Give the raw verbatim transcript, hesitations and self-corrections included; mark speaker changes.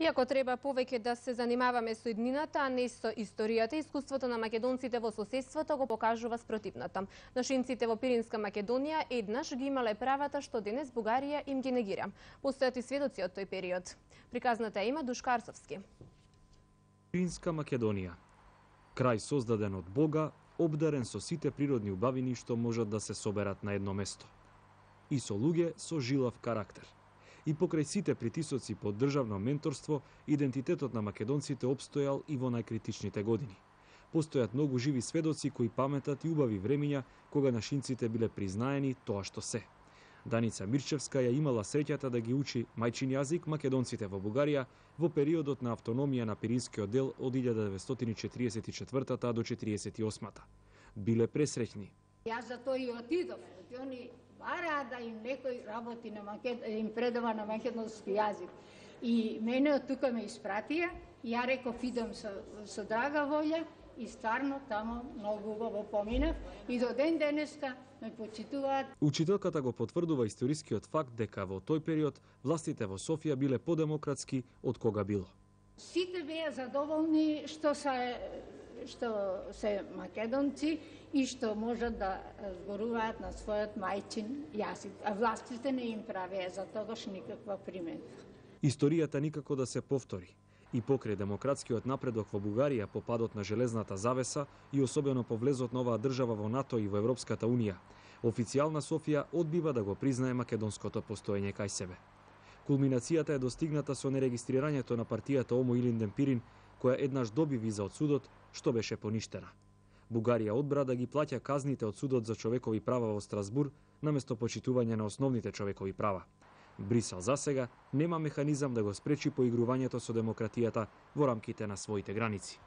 Speaker 1: Иако треба повеќе да се занимаваме со иднината, а не со историјата, искуството на македонците во соседството го покажува спротивната. Нашинците во Пиринска Македонија еднаш ги имале правата што денес Бугарија им ги негира. Постојат и сведоци од тој период. Приказната има Душка Арсовски.
Speaker 2: Пиринска Македонија. Крај создаден од Бога, обдарен со сите природни убавини што можат да се соберат на едно место. И со луѓе со жилав карактер. И покрај сите притисоци под државно менторство, идентитетот на македонците обстојал и во најкритичните години. Постојат многу живи сведоци кои паметат и убави времиња кога нашинците биле признаени тоа што се. Даница Мирчевска ја имала среќата да ги учи мајчин јазик македонците во Бугарија во периодот на автономија на Пиринскиот дел од илјада деветстотини и четиридесет и четвртата до четиридесет и осмата. Биле пресреќни.
Speaker 3: Јас за тоа и отидов. Они бараа да им некој работи на макед... им предава на македонски јазик. И мене од тука ме испратија, ја реков идам со, со драга волја и стварно тамо многу убаво поминав и до ден денеска ме почитуваат.
Speaker 2: Учителката го потврдува историскиот факт дека во тој период властите во Софија биле подемократски од кога било.
Speaker 3: Сите беа задоволни што се што се македонци и што можат да зборуваат на својот мајчин јазик, а властите не им правеа за тогаш никаква приметба.
Speaker 2: Историјата никако да се повтори. И покрај демократскиот напредок во Бугарија по падот на железната завеса и особено по влезот на оваа држава во НАТО и во Европската унија, официјална Софија одбива да го признае македонското постоење кај себе. Кулминацијата е достигната со нерегистрирањето на партијата Омо Илинден Пирин, која еднаш доби виза од судот, што беше поништена. Бугарија одбра да ги плаќа казните од Судот за човекови права во Страсбур наместо почитување на основните човекови права. Брисел засега нема механизам да го спречи поигрувањето со демократијата во рамките на своите граници.